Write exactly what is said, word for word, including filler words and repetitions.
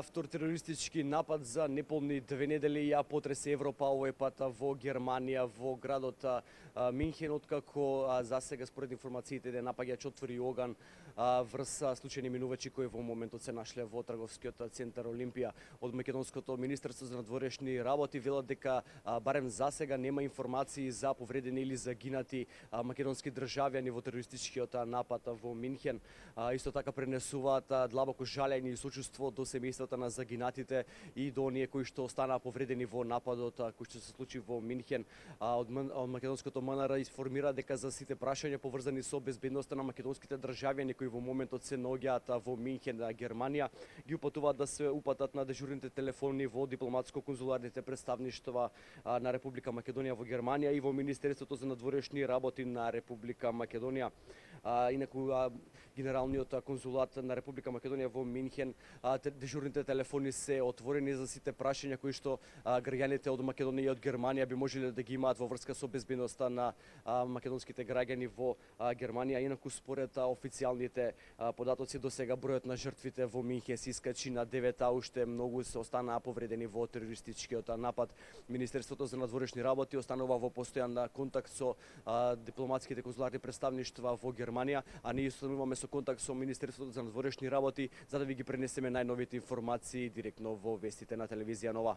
Втор терористички напад за неполни две недели ја потресе Европа, овој пат во Германија, во градот Минхен, откако засега според информациите де напаѓач отвори оган врз случајни минувачи кои во моментот се нашле во трговскиот центар Олимпија. Од македонското министерство за надворешни работи велат дека барем засега нема информации за повредени или загинати македонски државјани во терористичкиот напад во Минхен. Исто така пренесуваат длабоко жалење и сочувство до семејствата на загинатите и до оние кои што останаа повредени во нападот кој што се случи во Минхен. Од македонското М Н Р информира дека за сите прашања поврзани со безбедноста на македонските државјани кои во моментот се наоѓаат во Минхен, Германија, ги упатуваат да се упатат на дежурните телефони во дипломатско-конзуларните представништва на Република Македонија во Германија и во Министерството за надворешни работи на Република Македонија. Инаку генералниот конзулат на Република Македонија во Минхен, дежурните телефони се отворени за сите прашања кои што граѓаните од Македонија и од Германија би можеле да ги имаат во врска со безбедноста на македонските граѓани во Германија. Инаку според официјалните податоци до сега бројот на жртвите во Минхен се искачи на девет, а уште многу се останаа повредени во терористичкиот напад. Министерството за надворешни работи останува во постојан контакт со дипломатските конзуларни представништва во Германија, а ние остануваме со контакт со Министерството за надворешни работи за да ви ги пренесеме најновите информации директно во вестите на телевизија Нова.